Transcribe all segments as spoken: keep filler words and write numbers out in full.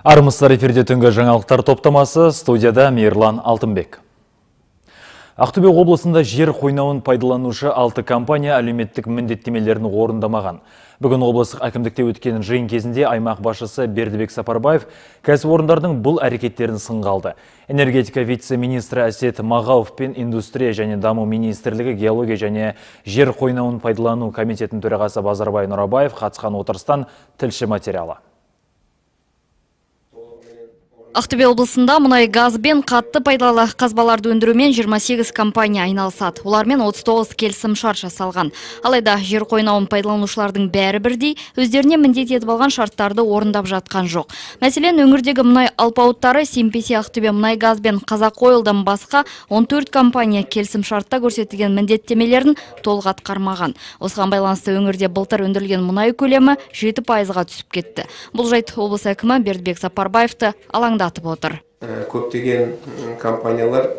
Армысыздар, эфирде түнгі жаңалықтар топтамасы, студияда Мейірлан Алтынбек. Ақтөбе облысында жер қойнауын пайдаланушы алты компания әлеуметтік міндеттемелерін орындамаған. Бүгін облыстық әкімдікте өткен жиын кезінде аймақ басшысы Бердібек Сапарбаев кәсіпорындардың бұл әрекеттерін сынға алды. Энергетика вице-министрі Әсет Мағауов пен индустрия және даму министрлігі геология және жер қойнауын пайдалану комитетінің төрағасы Базарбай Нұрабаев қатысқан отырыстан тілші материалы. Ақтөбе облысында мұнай газ бен қатты пайдалы қазбаларды өндірумен жиырма сегіз компания айналысады. Олармен отыз тоғыз келісім шарт жасалған. Алайда жер қойнауын пайдаланушылардың бәрі бірдей өздеріне міндет етіп алған шарттарды орындап жатқан жоқ. Мәселен, өңірдегі мұнай алпауыттары Симпеси Ақтөбе мұнай газ бен Қазақойлдан басқа он төрт компания келісім шартта көрсетілген міндеттемелерін толық атқармаған. Осыған байланысты өңірде былтыр өндірілген мұнай көлемі жеті пайызға түсіп кетті. Бұл жайт облыс әкімі Бердібек Сапарбаевты алаңдатып отыр. Көптеген компаниялар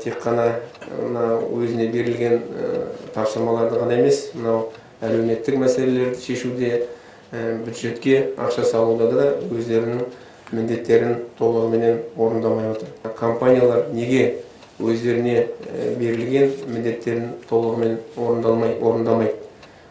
тек қана өзіне берілген тапсырмаларды ғана емес, әлеуметтік мәселелерді шешуде, бюджетке ақша салуда да өздерінің міндеттерін толығымен орындамай отыр. Компаниялар неге өздеріне берілген міндеттерін толығымен орындалмай, орындамай?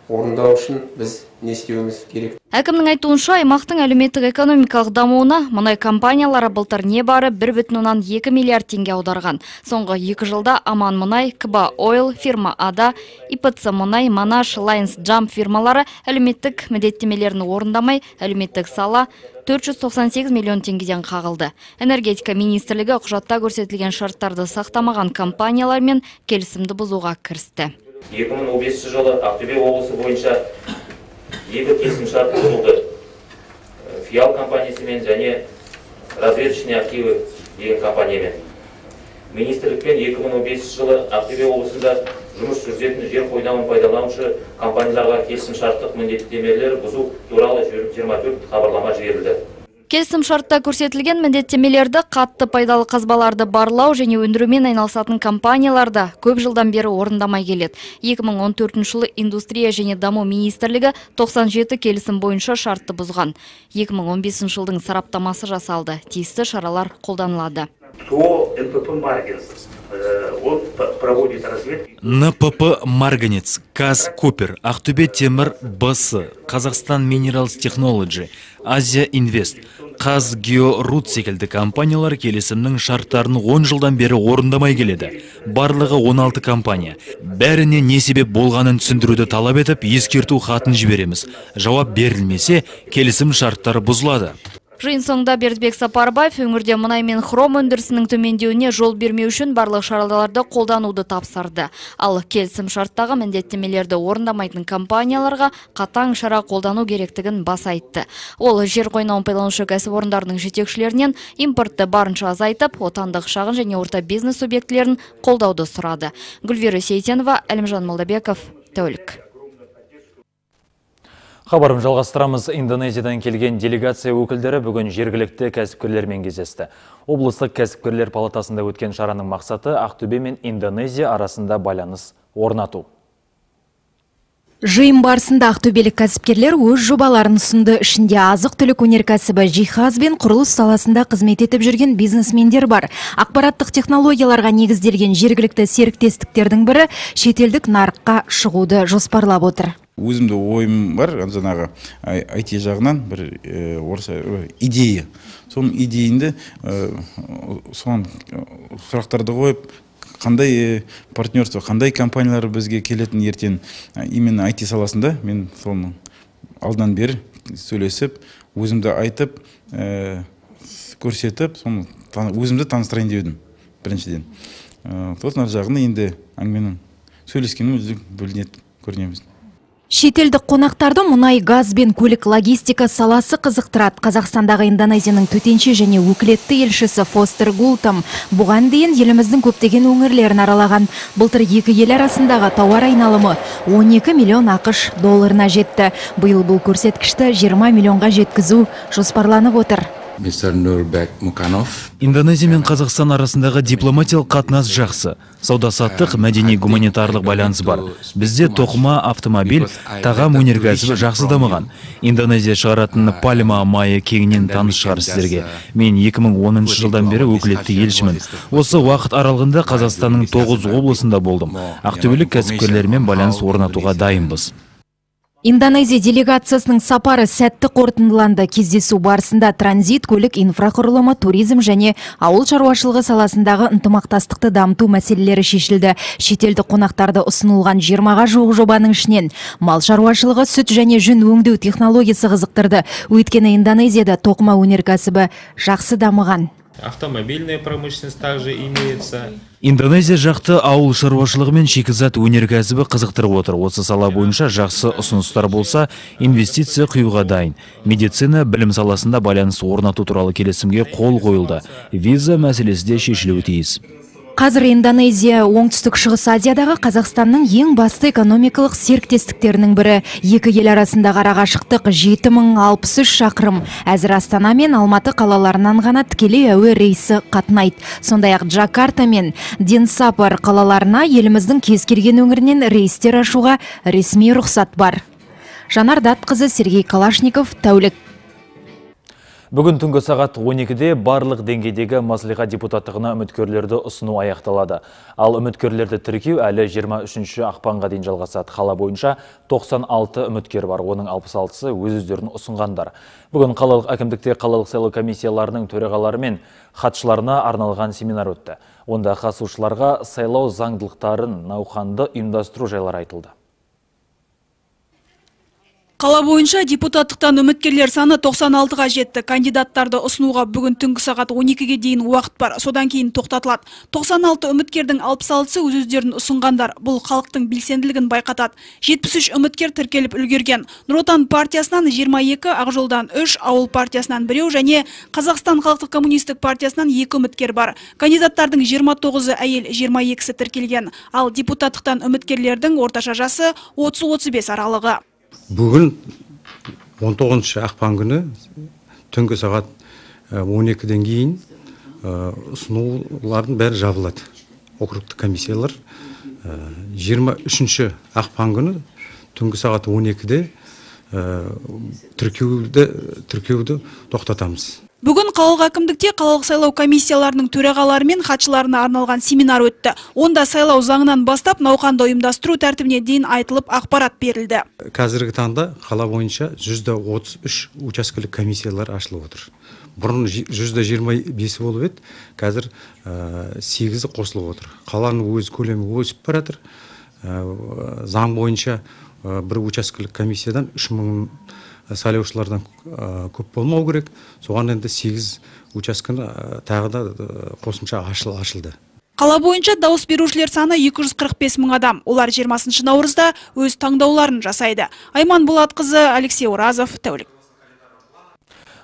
Орындау үшін біз не істеуіміз керек? Әкімнің айтуынша, аймақтың әлеуметтік экономикалық дамуына мұнай компаниялары былтыр небары бір бүтін оннан екі миллиард теңге аударған. Соңғы екі жылда Аман мұнай, Кба Ойл, фирма Ада, ИПЦ мұнай, Манаш, Лайнс Джамп фирмалары әлеуметтік міндеттемелерін орындамай, әлеуметтік сала төрт жүз тоқсан сегіз миллион теңгеден қағылды. Энергетика министрлігі құжатта көрсетілген шарттарды сақтамаған компаниялармен келісімді бұзуға кірісті. екі мың он бесінші жылы Ақтөбе облысы бойынша екі келісім шарт бұзылды. Фиал компаниясымен және разведочные активы деген компаниямен. Министрлікпен екі мың он бесінші жылы Ақтөбе облысында жұмыс жүргізетін жер қойнауын пайдаланушы компанияларға келісім шарттық міндеттемелер бұзу туралы жиырма төрт хабарлама жіберілді. Келісім шартта көрсетілген міндеттемелерді қатты пайдалы қазбаларды барлау және өндірумен айналысатын компанияларда көп жылдан бері орындамай келеді. екі мың он төртінші жылы индустрия және даму министрлігі тоқсан жеті келісім бойынша шартты бұзған. екі мың он бесінші жылдың сараптамасы жасалды. Тиісті шаралар қолданылады. НПП «Марганец», КАЗ «Купер», Ақтөбе темір БС, Қазақстан Minerals Technology, Азия Инвест, КАЗ Георут секілді компаниялар келісімнің шарттарын он жылдан бері орындамай келеді. Барлығы он алты компания. Бәріне не себеп болғанын түсіндіруді талап етіп, ескерту хатын жібереміз. Жауап берілмесе, келісім шарттары бұзылады. Жиын соңында Бердібек Сапарбаев өңірде мұнай мен хром өндірісінің төмендеуіне жол бермеу үшін барлық шараларды қолдануды тапсырды. Ал келісім шарттағы міндеттемелерді орындамайтын компанияларға қатаң шара қолдану керектігін баса айтты. Ол жер қойнауын пайдаланушы кәсіпорындардың жетекшілерінен импортты барынша азайтып, отандық шағын және орта бизнес субъектілерін қолдауды сұрады. Гүлвира Сейтенова, Әлімжан Молдабеков, Тәулік. Хабарым жалғастырамыз. Индонезиядан келген делегация өкілдері бүгін жергілікті кәсіпкерлермен кездесті. Облыстық кәсіпкерлер палатасында өткен шараның мақсаты Ақтөбе мен Индонезия арасында байланыс орнату. Жиын барысында ақтөбелік кәсіпкерлер өз жобаларын ұсынды. Ішінде азық-түлік өнеркәсібі, жиһаз бен құрылыс саласында қызмет етіп жүрген бизнесмендер бар. Ақпараттық технологияларға негізделген жергілікті серіктестіктердің бірі шетелдік нарыққа шығуды жоспарлап отыр. Өзімді ойым бар, жаңағы ай ти жағынан бір идея. Соның идеяңды соған сұрақтарды қойып, қандай партнерство, қандай компаниялар бізге келетін ертең, именно ай ти саласында мен соның алдан бері сөйлесіп, өзімді айтып, көрсетіп, өзімді таныстырайын деудім біріншіден. Сосын ар жағында енді әңгіменің сөйлескенім өзі бөлінеді, көрінеміз. Шетелдік қонақтарды мұнай, газ бен көлік логистика саласы қызықтырады. Қазақстандағы Индонезияның төтенше және өкілетті елшісі Фостер Гултам бұған дейін еліміздің көптеген өңірлерін аралаған. Былтыр екі ел арасындағы тауар айналымы он екі миллион ақш долларына жетті. Биыл бұл көрсеткішті жиырма миллионға жеткізу жоспарланып отыр. мистер Нурбек Муканов. Индонезия мен Қазақстан арасындағы дипломатиялық қатынас жақсы. Сауда-саттық, мәдени гуманитарлық байланыс бар. Бізде тоқыма, автомобиль, тағам өнеркәсібі жақсы дамыған. Индонезия шығаратын пальма майы кеңінен таныс шығар сіздерге. Мен екі мың оныншы жылдан бері өкілетті елшімін. Осы уақыт аралығында Қазақстанның тоғыз облысында болдым. Ақтөбелік кәсіпкерлермен байланыс орнатуға дайынбыз. Индонезия делегациясының сапары сәтті қорытындыланды. Кездесу барысында транзит, көлік инфрақұрылымы, туризм және ауыл шаруашылығы саласындағы ынтымақтастықты дамыту мәселелері шешілді. Шетелдік қонақтарды ұсынылған жиырмаға жуық жобаның ішінен мал шаруашылығы, сүт және жүн өңдеу технологиясы қызықтырды. Өйткені Индонезияда тоқыма өнеркәсібі жақсы дамыған. Автомобильная промышленность также имеется. Индонезия жақты ауыл шаруашылығы мен шикізат өнеркәсібі қызықтырып отыр. Осы сала бойынша жақсы ұсыныстар болса, инвестиция құюға дайын. Медицина, білім саласында байланыс орнату туралы келісімге қол қойылды. Виза мәселесі де шешілуі тиіс. Қазір Индонезия оңтүстік шығыс Азиядағы Қазақстанның ең басты экономикалық серіктестіктерінің бірі. Екі ел арасындағы арақашықтық жеті мың алпыс үш шақырым. Әзір Астана мен Алматы қалаларынан ғана тікелей әуе рейсі қатынайды. Сондай-ақ Джакарта мен Денсапар қалаларына еліміздің кез келген өңірінен рейстер ашуға ресми рұқсат бар. Жанар Датқызы, Сергей Калашников, тәулік. Бүгін түнгі сағат он екіде барлық деңгейдегі мәслихат депутаттығына үміткерлерді ұсыну аяқталады. Ал үміткерлерді тіркеу әлі жиырма үшінші ақпанға дейін жалғасады. Қала бойынша тоқсан алты үміткер бар, оның алпыс алтысы өз-өздерін ұсынғандар. Бүгін қалалық әкімдікте қалалық сайлау комиссияларының төрағалары мен хатшыларына арналған семинар өтті. Онда қатысушыларға сайлау заңдылықтарын науқанды ұйымдастыру жайлары айтылды. Қала бойынша депутаттықтан үміткерлер саны тоқсан алтыға жетті. Кандидаттарды ұсынуға бүгін түнгі сағат он екіге дейін уақыт бар. Содан кейін тоқтатылады. тоқсан алты үміткердің алпыс алтысы өз-өздерін ұсынғандар. Бұл халықтың белсенділігін байқатады. жетпіс үш үміткер тіркеліп үлгерген. Нұр Отан партиясынан жиырма екі, Ақжолдан үш, Ауыл партиясынан біреу және Қазақстан халықтық коммунистік партиясынан екі үміткер бар. Кандидаттардың жиырма тоғызы әйел, жиырма екісі тіркелген. Ал депутаттықтан үміткерлердің орташа жасы отыз отыз бес аралығы. Бүгін он тоғызыншы ақпан күні түнгі сағат он екіден кейін ұсынулардың бәрі жабылады. Округтік комиссиялар жиырма үшінші ақпан күні түнгі сағат он екіде тіркеуді тоқтатамыз. Бүгін қалалық әкімдікте қалалық сайлау комиссияларының төрағалары мен хатшыларына арналған семинар өтті. Онда сайлау заңынан бастап науқанды ұйымдастыру тәртібіне дейін айтылып ақпарат берілді. Қазіргі таңда қала бойынша жүз отыз үш учаскелік комиссиялар ашылып отыр. Бұрын жүз жиырма бесі болып еді, қазір сегізі қосылып отыр. Қаланың өз көлемі өсіп баратыр. Заң бойынша бір учаскелік комиссиядан үш мың сайлаушылардан көп болмау керек. Соған енді сегіз учаскені тағы да қосымша ашылды. Қала бойынша дауыс берушілер саны екі жүз қырық бес мың адам. Олар жиырмасыншы наурызда өз таңдауларын жасайды. Айман Болатқызы, Алексей Уразов, тәулік.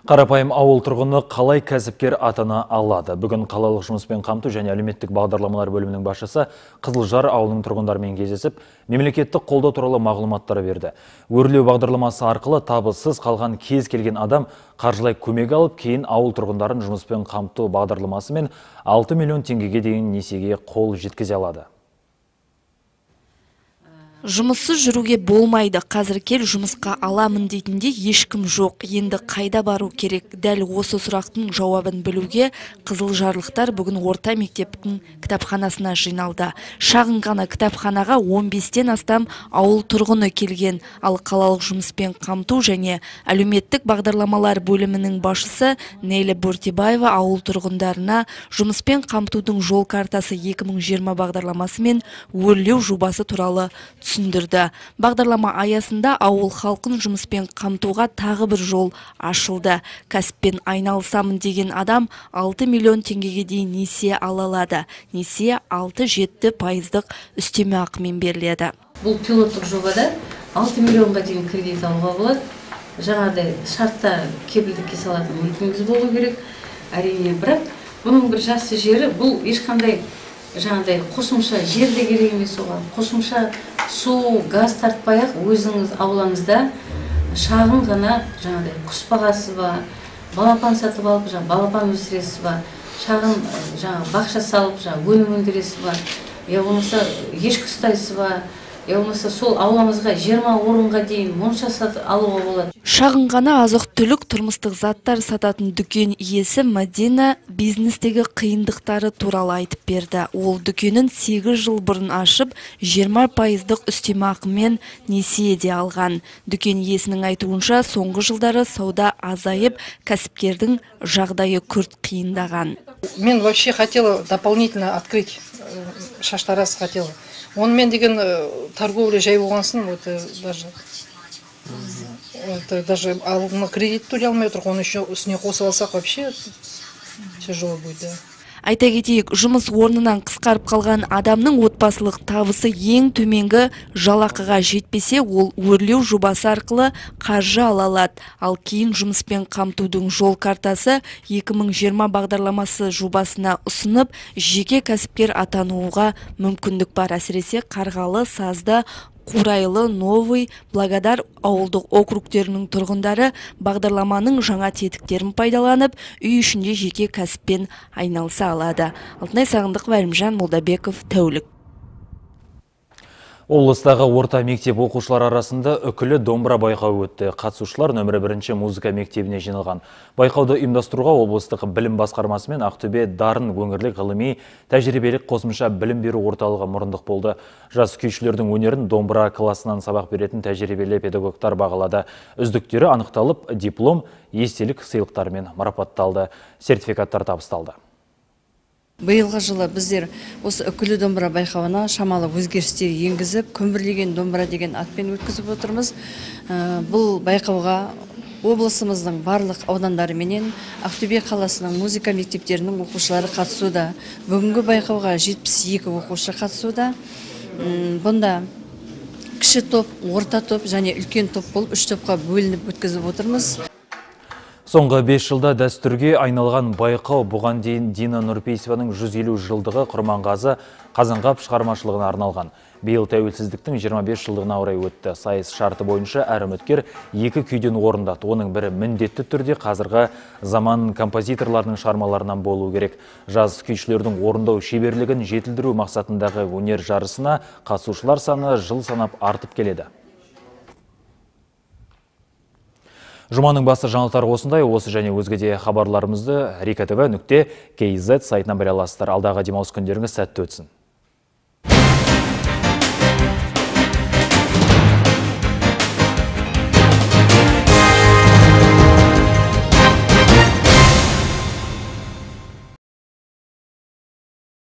Қарапайым ауыл тұрғыны қалай кәсіпкер атана алады? Бүгін қалалық жұмыспен қамту және әлеуметтік бағдарламалар бөлімінің басшысы Қызылжар ауылының тұрғындарымен кездесіп, мемлекеттік қолдау туралы мағлұматтар берді. Өрлеу бағдарламасы арқылы табыссыз қалған кез келген адам қаржылай көмек алып, кейін ауыл тұрғындарын жұмыспен қамту бағдарламасымен алты миллион теңгеге дейін несиеге қол жеткізе алады. Жұмыссыз жүруге болмайды. Қазір кел жұмысқа аламын дейтінде ешкім жоқ. Енді қайда бару керек? Дәл осы сұрақтың жауабын білуге қызылжарлықтар бүгін орта мектептің кітапханасына жиналды. Шағын ғана кітапханаға он бестен астам ауыл тұрғыны келген. Ал қалалық жұмыспен қамту және әлеуметтік бағдарламалар бөлімінің басшысы Нейлі Бөртебаева ауыл тұрғындарына жұмыспен қамтудың жол картасы екі мың жиырма бағдарламасы мен өрлеу жобасы туралы түсіндірді. Бағдарлама аясында ауыл халқын жұмыспен қамтуға тағы бір жол ашылды. Кәсіппен айналысамын деген адам алты миллион теңгеге дейін несие ала алады. Несие алты жеті пайыздық үстеме ақымен беріледі. Бұл пилоттық жобада алты миллионға дейін кредит алуға болады. Жаңағыдай шартта кепілдікке салатын мүлкіңіз болу керек. Әрине, бірақ бұның бір жақсы жері, бұл ешқандай жаңағыдай қосымша жер де керек емес оған. Қосымша су, газ тартпай-ақ өзіңіз аулаңызда шағын ғана жаңағыдай құс бағасы ба, балапан сатып алып, жаңа балапан өсіресіз ба, шағын жаңа бақша салып, жаңа өнім өндіресіз ба, я болмаса ешкі ұстайсыз ба, я болмаса сол ауламызға жиырма орынға дейін монша сатып алуға болады. Шағын ғана азық-түлік тұрмыстық заттар сататын дүкен иесі Мадина бизнестегі қиындықтары туралы айтып берді. Ол дүкенін сегіз жыл бұрын ашып, жиырма пайыздық үстемақымен несие де алған. Дүкен иесінің айтуынша, соңғы жылдары сауда азайып, кәсіпкердің жағдайы күрт қиындаған. Мен вообще хотела дополнительно открыть шаштараз хотела. Онымен деген торговля жай болғансын, вот даже вот даже алдына кредит төлей алмай отырық, оны еще үстіне қосып алсақ вообще тяжело будет, да. Айта кетейік, жұмыс орнынан қысқарып қалған адамның отбасылық табысы ең төменгі жалақыға жетпесе, ол өрлеу жобасы арқылы қаржы ала алады. Ал кейін жұмыспен қамтудың жол картасы екі мың жиырма бағдарламасы жобасына ұсынып, жеке кәсіпкер атануға мүмкіндік бар. Әсіресе Қарғалы, Сазды, Қурайлы, Новый, Благодар ауылдық округтерінің тұрғындары бағдарламаның жаңа тетіктерін пайдаланып, үй ішінде жеке кәсіппен айналыса алады. Алтынай Сағындықова, Әлімжан Молдабеков, тәулік. Облыстағы орта мектеп оқушылар арасында үкілі домбыра байқауы өтті. Қатысушылар нөмірі бірінші музыка мектебіне жиналған. Байқауды ұйымдастыруға облыстық білім басқармасы мен Ақтөбе дарын өңірлік ғылыми тәжірибелік қосымша білім беру орталығы мұрындық болды. Жас күйшілердің өнерін домбыра классынан сабақ беретін тәжірибелі педагогтар бағалады. Үздіктері анықталып, диплом, естелік сыйлықтармен марапатталды. Сертификаттар табысталды. Биылғы жылы біздер осы үкілі домбыра байқауына шамалы өзгерістер енгізіп, көмірлеген домбыра деген атпен өткізіп отырмыз. Бұл байқауға облысымыздың барлық аудандары менен Ақтөбе қаласының музыка мектептерінің оқушылары қатысуда. Бүгінгі байқауға жетпіс екі оқушы қатысуда. Бұнда кіші топ, орта топ және үлкен топ болып үш топқа бөлініп өткізіп отырмыз. Соңғы бес жылда дәстүрге айналған байқау бұған дейін Дина Нұрпейсованың жүз елу жылдығы Құрманғазы Қазанғап шығармашылығына арналған. Биыл тәуелсіздіктің жиырма бес жылдығына орай өтті. Сайыс шарты бойынша әр үміткер екі күйден орындады. Оның бірі міндетті түрде қазіргі заман композиторларының шығармаларынан болу керек. Жас күйшілердің орындау шеберлігін жетілдіру мақсатындағы өнер жарысына қатысушылар саны жыл санап артып келеді. Жұманың басы жаңалықтары осындай. Осы және өзге де хабарларымызды рика тэ вэ нүкте кз сайтынан біле аласыздар. Алдағы демалыс күндеріңіз сәтті өтсін.